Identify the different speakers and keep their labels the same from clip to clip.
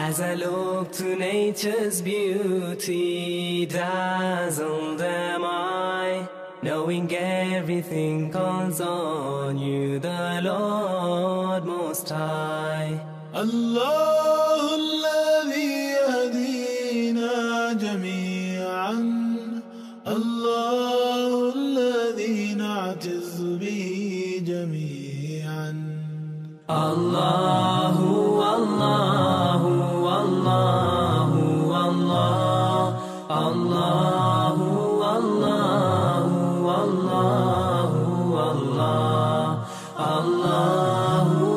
Speaker 1: As I look to nature's beauty, dazzled am I, knowing everything calls on you, the Lord Most High.
Speaker 2: الله الذي يهدينا جميعا، الله الذي نعتز به جميعا.
Speaker 1: الله الله الله الله الله الله الله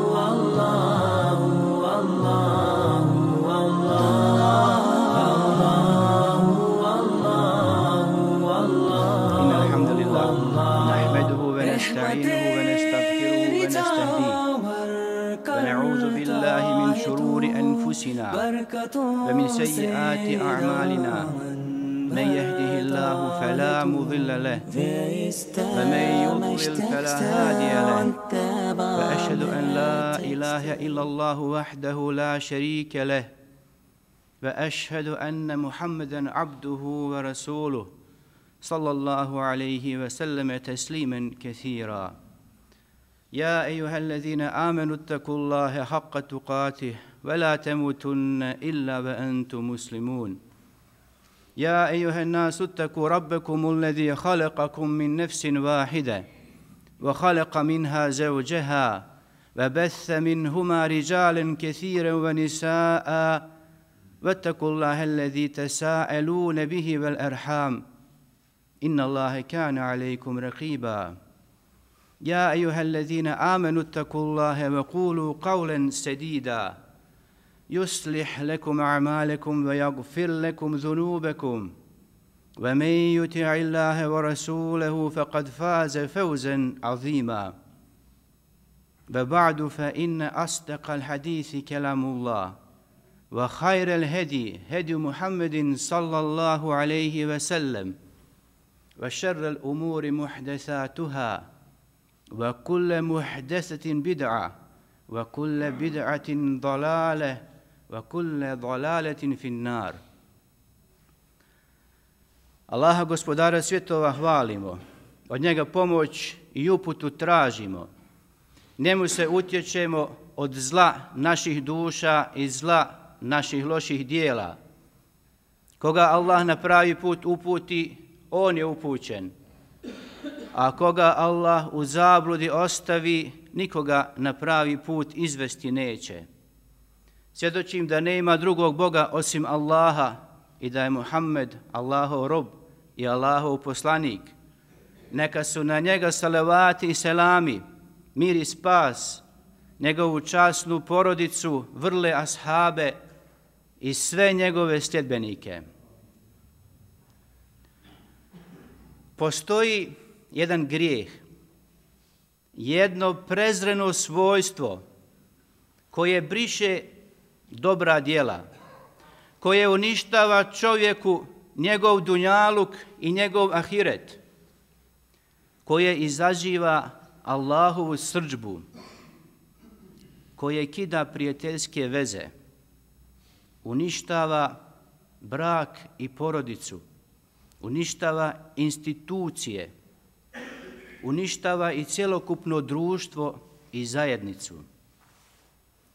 Speaker 1: الله الله
Speaker 3: إن الحمد لله نحمده ونستعينه ونستغفره ونستهديه ونعوذ بالله من شرور أنفسنا ومن سيئات أعمالنا من يهده الله فلا مضل له ومن يضلل فلا هادي له وأشهد أن لا إله إلا الله وحده لا شريك له وأشهد أن محمدا عبده ورسوله صلى الله عليه وسلم تسليما كثيرا. يا أيها الذين آمنوا اتقوا الله حق تقاته ولا تموتن إلا وأنتم مسلمون. يا أيها الناس اتقوا ربكم الذي خلقكم من نفس واحدة وخلق منها زوجها وبث منهما رجالا كثيرا ونساء واتقوا الله الذي تساءلون به والأرحام إن الله كان عليكم رقيبا. يا أيها الذين آمنوا اتقوا الله وقولوا قولا سديدا يصلح لكم أعمالكم ويغفر لكم ذنوبكم ومن يطع الله ورسوله فقد فاز فوزا عظيما. وبعد فإن أصدق الحديث كلام الله وخير الهدي هدي محمد صلى الله عليه وسلم وشر الأمور محدثاتها وكل محدثة بدعة وكل بدعة ضلالة وكل ضلالة في النار. Allaha gospodara svjetova hvalimo, od njega pomoć i uputu tražimo, njemu se utječemo od zla naših duša i zla naših loših dijela. Koga Allah na pravi put uputi, on je upućen, a koga Allah u zabludi ostavi, nikoga na pravi put izvesti neće. Svjedočim da nema drugog Boga osim Allaha i da je Muhammed Allahov rob i Allahov poslanik. Neka su na njega salavati i selami, mir i spas, njegovu časnu porodicu, vrle ashabe i sve njegove sljedbenike. Postoji jedan grijeh, jedno prezreno svojstvo koje briše dobra djela, koje uništava čovjeku njegov dunjaluk i njegov ahiret, koje izaziva Allahovu srdžbu, koje kida prijateljske veze, uništava brak i porodicu, uništava institucije, uništava i cjelokupno društvo i zajednicu.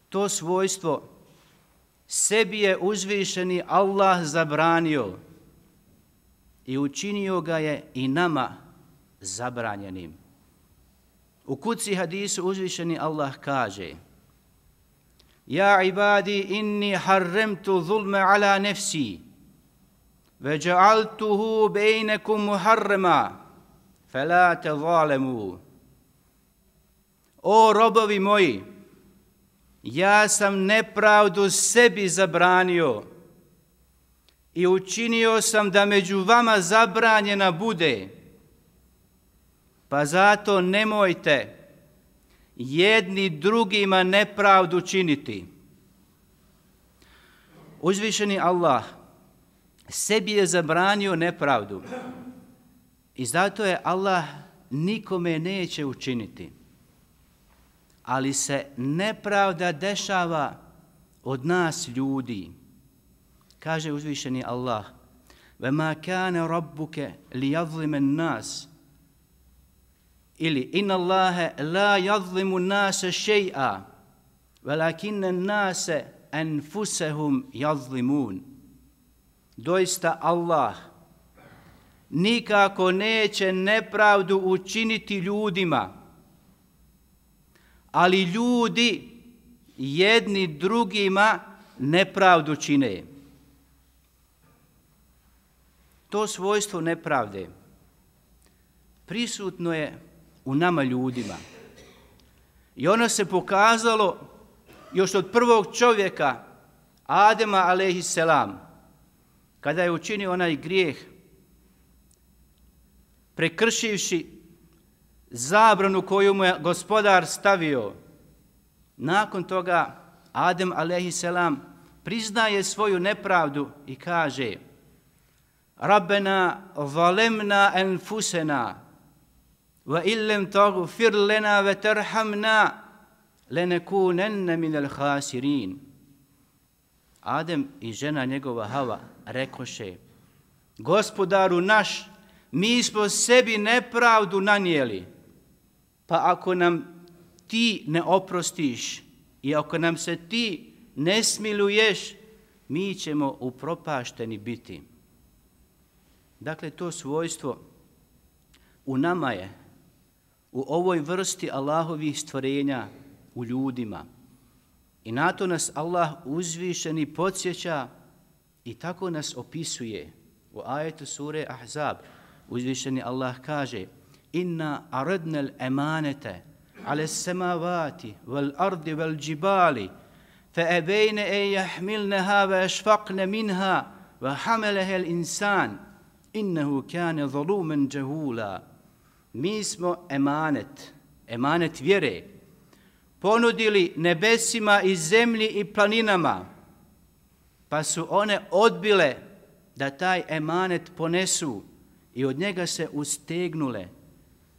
Speaker 3: To svojstvo sebi je uzvišeni Allah zabranio i učinio ga je i nama zabranjenim. U kuci hadisu uzvišeni Allah kaže: Ja ibadi inni harremtu zulme ala nefsi ve ja'altuhu bejnekum muharrema fela te zalemu. O robovi moji, ja sam nepravdu sebi zabranio i učinio sam da među vama zabranjena bude, pa zato nemojte jedni drugima nepravdu činiti. Uzvišeni Allah sebi je zabranio nepravdu i zato je Allah nikome neće učiniti. Ali se nepravda dešava od nas ljudi. Kaže uzvišeni Allah: وَمَا كَانَ رَبُّكَ لِيَظْلِمَ النَّاسِ ili inna Allahe la yadlimu nase še'a velakinne nase enfusehum yazlimun. Doista Allah nikako neće nepravdu učiniti ljudima, ali ljudi jedni drugima nepravdu čine. To svojstvo nepravde prisutno je u nama ljudima. I ono se pokazalo još od prvog čovjeka, Adema alejhiselam, kada je učinio onaj grijeh, prekršivši zabranu koju mu je gospodar stavio. Nakon toga Adem alejhiselam priznaje svoju nepravdu i kaže: Rabbena zalemna enfusena wa illem taghfir lana wa tarhamna lenekunenne minel hasirin. Adem i žena njegova Hava rekoše: Gospodaru naš, mi smo sebi nepravdu nanijeli, pa ako nam ti ne oprostiš i ako nam se ti ne smiluješ, mi ćemo upropašteni biti. Dakle, to svojstvo u nama je, u ovoj vrsti Allahovih stvorenja, u ljudima. I na to nas Allah uzvišeni podsjeća i tako nas opisuje. U ajetu sure Ahzab uzvišeni Allah kaže: Inna aradnal emanete ale samavati wal ardi wal džibali fa ebejne e jahmilneha ve ešfaqne minha ve hamelehel insan innehu kane zalumen džahula. Mi smo emanet vjere, ponudili nebesima i zemlji i planinama, pa su one odbile da taj emanet ponesu i od njega se ustegnule,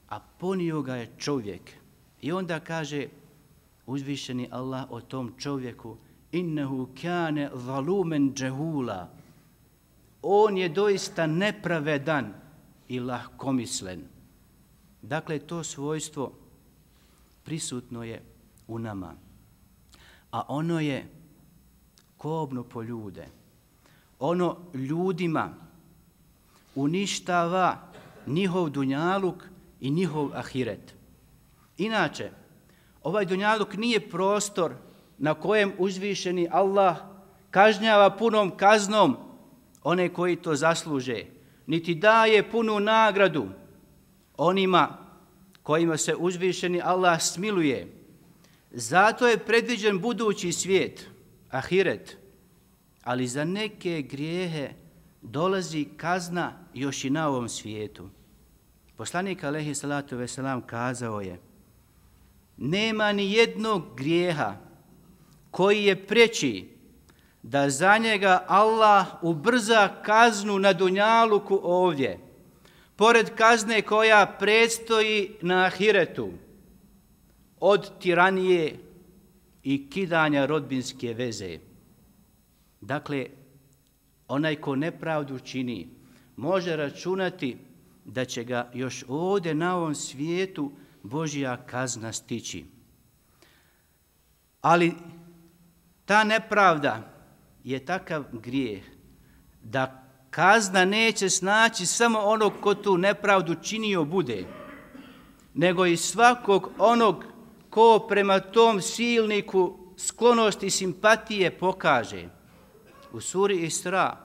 Speaker 3: a ponio ga je čovjek. I onda kaže uzvišeni Allah o tom čovjeku: innehu kane zalumen džahula. On je doista nepravedan i lahkomislen. Dakle, to svojstvo prisutno je u nama, a ono je kobno po ljude. Ono ljudima uništava njihov dunjaluk i njihov ahiret. Inače, ovaj dunjaluk nije prostor na kojem uzvišeni Allah kažnjava punom kaznom one koji to zasluže, niti daje punu nagradu onima kojima se uzvišeni Allah smiluje. Zato je predviđen budući svijet, ahiret, ali za neke grijehe dolazi kazna još i na ovom svijetu. Poslanik alejhi salatu vesselam kazao je: nema ni jednog grijeha koji je preći da za njega Allah ubrza kaznu na dunjaluku ovdje, pored kazne koja predstoji na ahiretu, od tiranije i kidanja rodbinske veze. Dakle, onaj ko nepravdu čini može računati da će ga još ovdje na ovom svijetu Božja kazna stići. Ali ta nepravda je takav grijeh da kazna neće snaći samo onog ko tu nepravdu činio bude, nego i svakog onog ko prema tom silniku sklonosti i simpatije pokaže. U suri Isra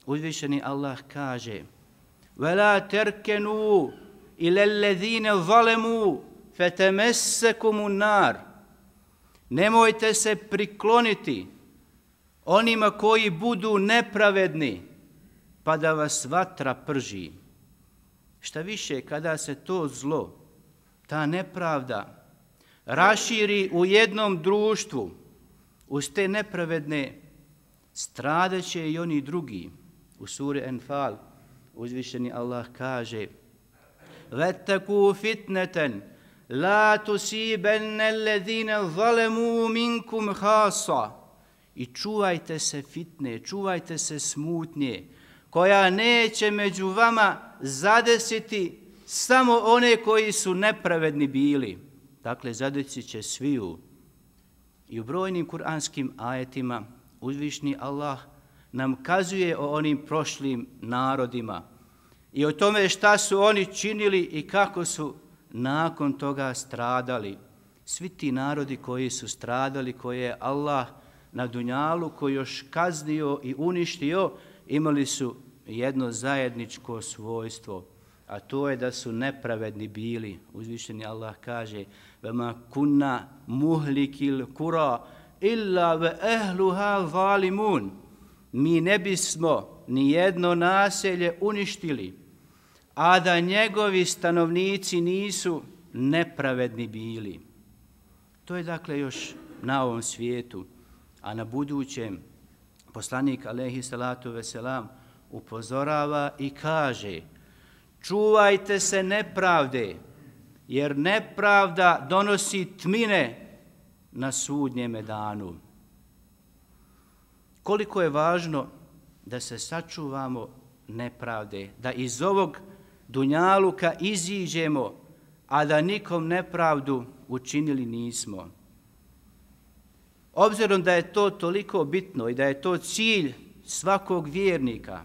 Speaker 3: uzvišeni Allah kaže: وَلَا تَرْكَنُوا إِلَى الَّذِينَ ظَلَمُوا فَتَمَسَّكُمُ النَّارِ. Nemojte se prikloniti onima koji budu nepravedni, pa da vas vatra prži. Šta više, kada se to zlo, ta nepravda raširi u jednom društvu, uz te nepravedne stradaće i oni drugi. U suri Enfal uzvišeni Allah kaže: وَاتَّقُوا فِتْنَةً لَا تُصِيبَنَّ الَّذِينَ ظَلَمُوا مِنْكُمْ خَاصَّةً. I čuvajte se fitne, čuvajte se smutnje, koja neće među vama zadesiti samo one koji su nepravedni bili. Dakle, zadesit će sviju. I u brojnim kuranskim ajetima uzvišni Allah nam kazuje o onim prošlim narodima i o tome šta su oni činili i kako su nakon toga stradali. Svi ti narodi koji su stradali, koje je Allah na dunjaluku još kaznio i uništio, imali su jedno zajedničko svojstvo, a to je da su nepravedni bili. Uzvišeni Allah kaže: وَمَا كُنَّا مُهْلِكِ الْقُرَى إِلَّا وَأَهْلُهَا ظَالِمُونَ. Mi ne bismo ni jedno naselje uništili, a da njegovi stanovnici nisu nepravedni bili. To je dakle još na ovom svijetu, a na budućem poslanik alejhi salatu veselam upozorava i kaže: čuvajte se nepravde, jer nepravda donosi tmine na sudnjeme danu. Koliko je važno da se sačuvamo nepravde, da iz ovog dunjaluka iziđemo, a da nikom nepravdu učinili nismo. Obzirom da je to toliko bitno i da je to cilj svakog vjernika,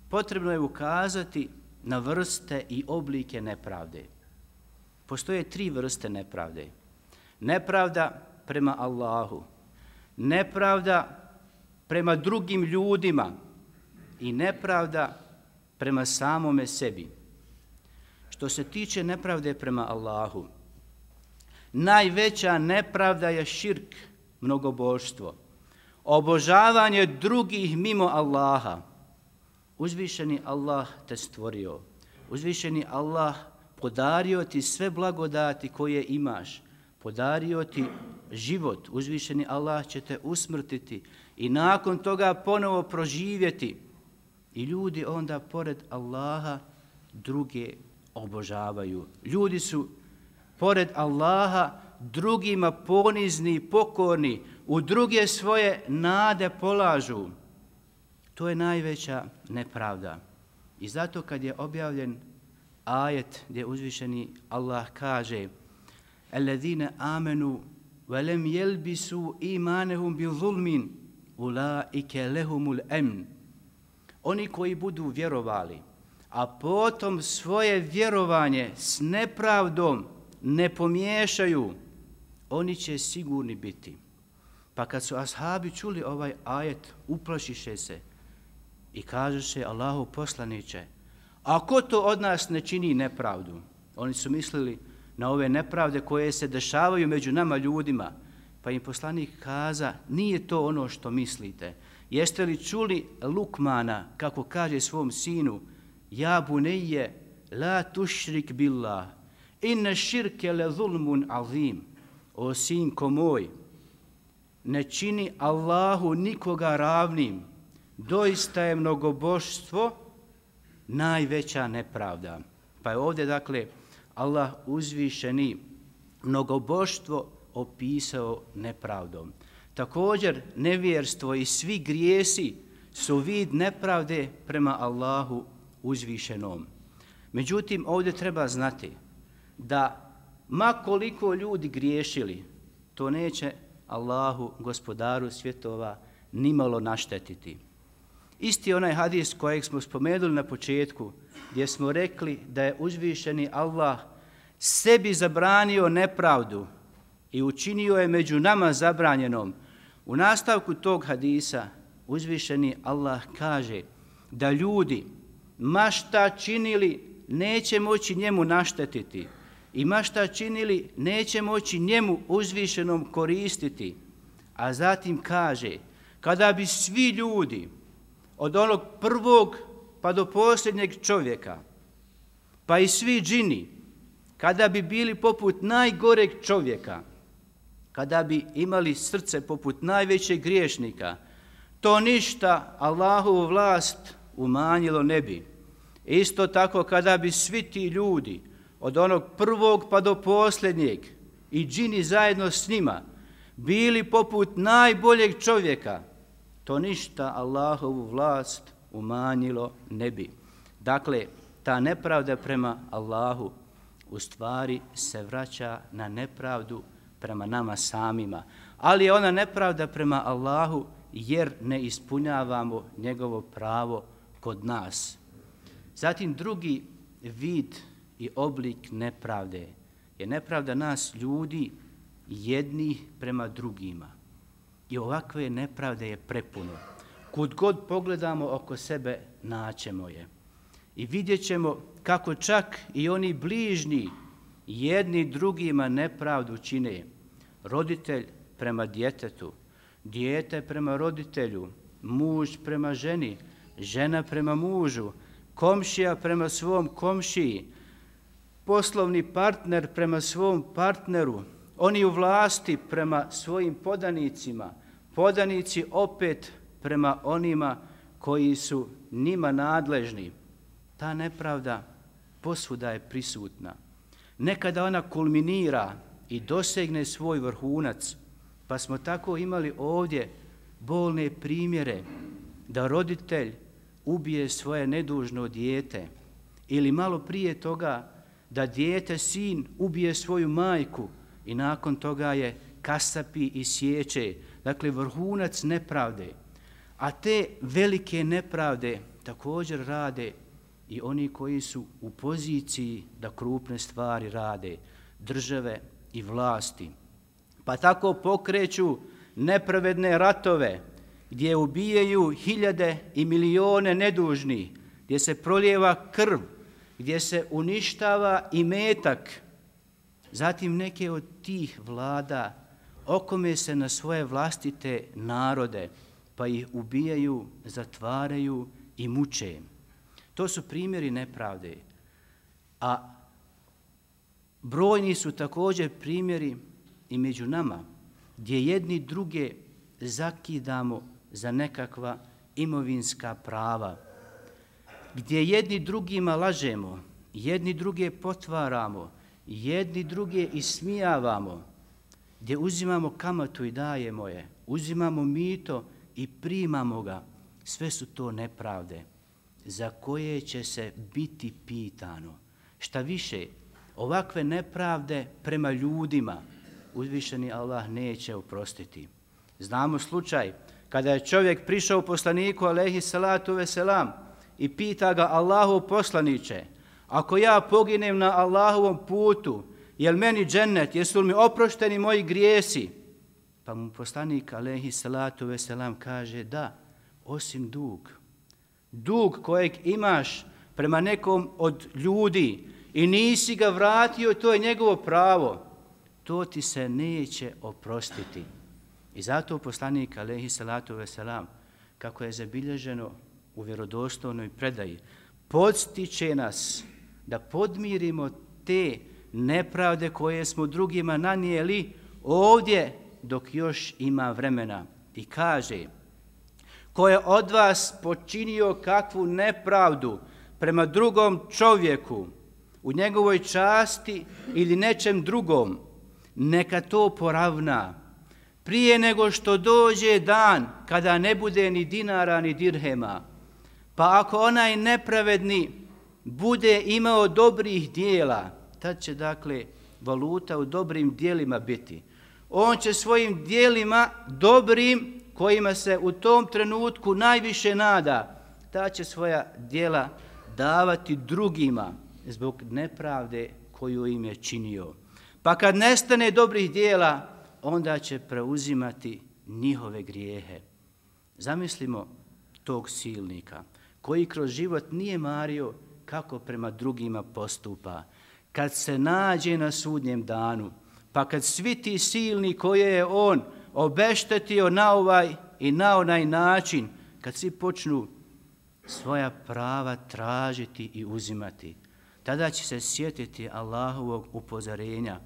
Speaker 3: potrebno je ukazati na vrste i oblike nepravde. Postoje 3 vrste nepravde. Nepravda prema Allahu, nepravda prema drugim ljudima i nepravda prema samome sebi. Što se tiče nepravde prema Allahu, najveća nepravda je širk, mnogobožstvo, obožavanje drugih mimo Allaha. Uzvišeni Allah te stvorio, uzvišeni Allah podario ti sve blagodati koje imaš, podario ti život, uzvišeni Allah će te usmrtiti i nakon toga ponovo proživjeti. I ljudi onda pored Allaha druge obožavaju. Ljudi su pored Allaha drugima ponizni i pokorni, u druge svoje nade polažu. To je najveća nepravda. I zato kad je objavljen ajet gdje uzvišeni Allah kaže: الَّذِينَ آمَنُوا وَلَمْ يَلْبِسُوا إِيمَانَهُمْ بِظُلْمٍ أُولَٰئِكَ لَهُمُ الْأَمْنُ. Oni koji budu vjerovali, a potom svoje vjerovanje s nepravdom ne pomiješaju, oni će sigurni biti. Pa kad su ashabi čuli ovaj ajet, uplašiše se i kažeše: Allahu poslaniče, a ko to od nas ne čini nepravdu? Oni su mislili na ove nepravde koje se dešavaju među nama ljudima. Pa im poslanik kaza: nije to ono što mislite. Jeste li čuli Lukmana kako kaže svom sinu: ja bunejje la tušrik billah, inne širke le zulmun azim. O sinko moj, ne čini Allahu nikoga ravnim, doista je mnogobožstvo najveća nepravda. Pa je ovdje dakle Allah uzvišeni mnogobožstvo opisao nepravdom. Također nevjerstvo i svi grijesi su vid nepravde prema Allahu uzvišenom. Međutim, ovdje treba znati da ma koliko ljudi griješili, to neće Allahu, gospodaru svjetova, nimalo naštetiti. Isti onaj hadis kojeg smo spomenuli na početku, gdje smo rekli da je uzvišeni Allah sebi zabranio nepravdu i učinio je među nama zabranjenom. U nastavku tog hadisa uzvišeni Allah kaže da ljudi ma šta činili neće moći njemu naštetiti i ma šta činili neće moći njemu uzvišenom koristiti. A zatim kaže, kada bi svi ljudi od onog prvog pa do posljednjeg čovjeka, pa i svi džini, kada bi bili poput najgoreg čovjeka, kada bi imali srce poput najvećeg griješnika, to ništa Allahovu vlast umanjilo ne bi. Isto tako kada bi svi ti ljudi od onog prvog pa do posljednjeg i džini zajedno s njima bili poput najboljeg čovjeka, to ništa Allahovu vlast umanjilo ne bi. Dakle, ta nepravda prema Allahu u stvari se vraća na nepravdu prema nama samima. Ali je ona nepravda prema Allahu jer ne ispunjavamo njegovo pravo kod nas. Zatim drugi vid i oblik nepravde je nepravda nas ljudi jednih prema drugima. I ovakve nepravde je prepuno. Kud god pogledamo oko sebe, naćemo je. I vidjet ćemo kako čak i oni bližnji jedni drugima nepravdu čine. Roditelj prema djetetu, dijete prema roditelju, muž prema ženi, žena prema mužu, komšija prema svom komšiji, poslovni partner prema svom partneru, oni u vlasti prema svojim podanicima, podanici opet prema onima koji su njima nadležni. Ta nepravda posvuda je prisutna. Nekada ona kulminira i dosegne svoj vrhunac, pa smo tako imali ovdje bolne primjere da roditelj ubije svoje nedužno dijete ili malo prije toga da dijete, sin, ubije svoju majku i nakon toga je kasapi i sječe. Dakle, vrhunac nepravde. A te velike nepravde također rade i oni koji su u poziciji da krupne stvari rade, države i vlasti. Pa tako pokreću nepravedne ratove gdje ubijaju hiljade i milijone nedužnih, gdje se prolijeva krv, gdje se uništava imetak. Zatim neke od tih vlada okome se na svoje vlastite narode, pa ih ubijaju, zatvaraju i muče. To su primjeri nepravde. A brojni su također primjeri i među nama, gdje jedni druge zakidamo za nekakva imovinska prava, gdje jedni drugima lažemo, jedni druge potvaramo, jedni druge ismijavamo, gdje uzimamo kamatu i dajemo je, uzimamo mito i primamo ga. Sve su to nepravde za koje će se biti pitano. Šta više, ovakve nepravde prema ljudima uzvišeni Allah neće oprostiti. Znamo slučaj kada je čovjek prišao poslaniku alejhi salatu veselam i pita ga: Allahov poslaniče, ako ja poginem na Allahovom putu, jel meni džennet, jesu li mi oprošteni moji grijesi? Pa mu poslanik alejhi salatu veselam kaže: da, osim dug. Dug kojeg imaš prema nekom od ljudi i nisi ga vratio, to je njegovo pravo. To ti se neće oprostiti. I zato poslanik alejhi salatu veselam, kako je zabilježeno u vjerodostojnoj predaji, podstiče nas da podmirimo te nepravde koje smo drugima nanijeli ovdje dok još ima vremena. I kaže: ko je od vas počinio kakvu nepravdu prema drugom čovjeku u njegovoj časti ili nečem drugom, neka to poravna prije nego što dođe dan kada ne bude ni dinara ni dirhema. Pa ako onaj nepravedni bude imao dobrih dijela, tad će dakle valuta u dobrim dijelima biti. On će svojim dijelima dobrim, kojima se u tom trenutku najviše nada, ta će svoja djela davati drugima zbog nepravde koju im je činio. Pa kad nestane dobrih djela, onda će preuzimati njihove grijehe. Zamislimo tog silnika koji kroz život nije mario kako prema drugima postupa. Kad se nađe na sudnjem danu, pa kad svi ti silni koje je on obeštetio na ovaj i na onaj način, kad svi počnu svoja prava tražiti i uzimati, tada će se sjetiti Allahovog upozorenja.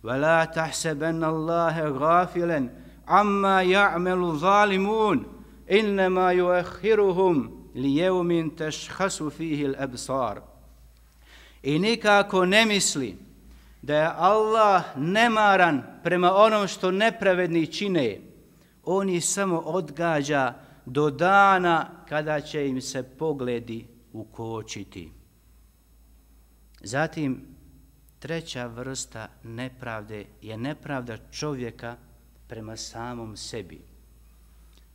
Speaker 3: وَلَا تَحْسَبَنَّ اللَّهَ غَافِلًا عَمَّا يَعْمَلُ ظَالِمُونَ إِنَّمَا يُؤَخِّرُهُمْ لِيَوْمٍ تَشْخَصُ فِيهِ الْأَبْصَارِ. I nikako ne misli da je Allah nemaran prema onom što nepravedni čine. On ih samo odgađa do dana kada će im se pogledi ukočiti. Zatim, treća vrsta nepravde je nepravda čovjeka prema samom sebi.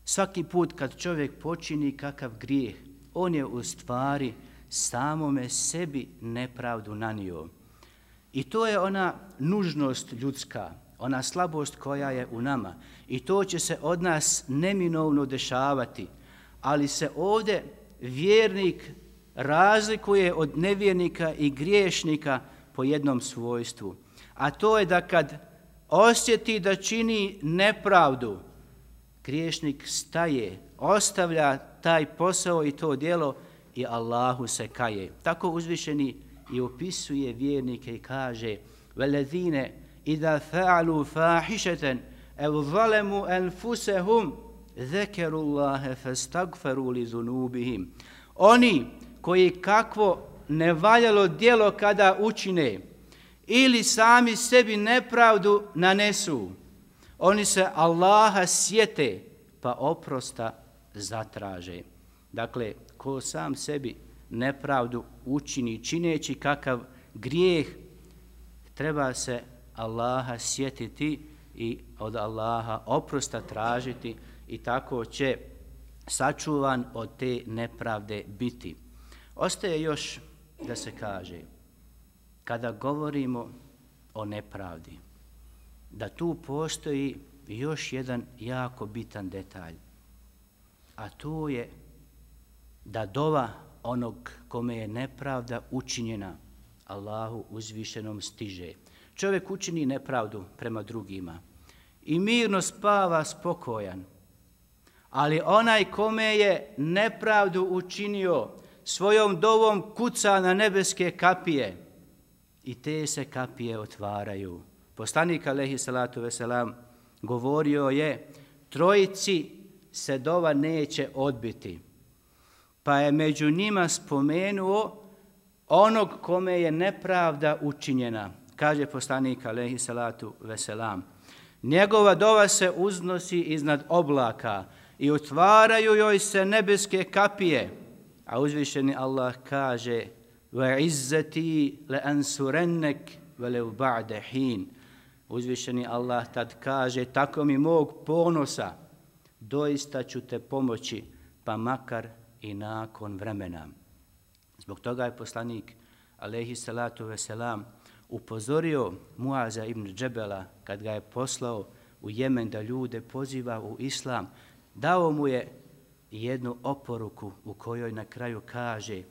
Speaker 3: Svaki put kad čovjek počini kakav grijeh, on je u stvari samome sebi nepravdu nanio. I to je ona nužnost ljudska, ona slabost koja je u nama. I to će se od nas neminovno dešavati. Ali se ovdje vjernik razlikuje od nevjernika i griješnika po jednom svojstvu. A to je da kad osjeti da čini nepravdu, griješnik staje, ostavlja taj posao i to djelo i Allahu se kaje. Tako uzvišeni i opisuje vjernike i kaže: وَلَذِينَ إِذَا فَعَلُوا فَاحِشَةً أَوْ ظَلَمُوا أَنفُسَهُمْ ذَكَرُوا اللَّهَ فَاسْتَغْفَرُوا لِذُنُوبِهِمْ. Oni koji kakvo nevaljalo djelo kada učine ili sami sebi nepravdu nanesu, oni se Allaha sjete pa oprosta zatraže. Dakle, ko sam sebi nepravdu učini čineći kakav grijeh, treba se Allaha sjetiti i od Allaha oprosta tražiti i tako će sačuvan od te nepravde biti. Ostaje još da se kaže, kada govorimo o nepravdi, da tu postoji još jedan jako bitan detalj, a to je da dova onog kome je nepravda učinjena Allahu uzvišenom stiže. Čovjek učini nepravdu prema drugima i mirno spava spokojan, ali onaj kome je nepravdu učinio svojom dovom kuca na nebeske kapije i te se kapije otvaraju. Poslanik alejhi salatu veselam govorio je: trojici se dova neće odbiti. Pa je među njima spomenuo onog kome je nepravda učinjena. Kaže poslanik alejhi salatu veselam: njegova dova se uznosi iznad oblaka i otvaraju joj se nebeske kapije. A uzvišeni Allah kaže: وَعِزَّتِي لَأَنْسُرَنَّكْ وَلَوْ بَعْدَ حِينَ. Uzvišeni Allah tad kaže: tako mi mog ponosa, doista ću te pomoći, pa makar i nakon vremena. Zbog toga je poslanik alejhi salatu veselam upozorio Muaza ibn Džebela kad ga je poslao u Jemen da ljude poziva u islam. Dao mu je jednu oporuku u kojoj na kraju kaže: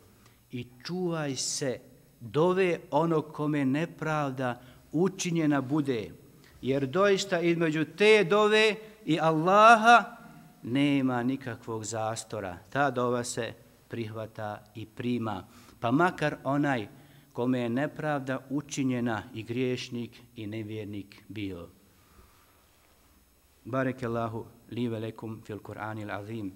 Speaker 3: i čuvaj se dove onog kome nepravda učinjena bude, jer doista između te dove i Allaha nema nikakvog zastora. Ta dova se prihvata i prima, pa makar onaj kome je nepravda učinjena i griješnik i nevjernik bio. Barakallahu li ve lekum fil Kur'anil azim.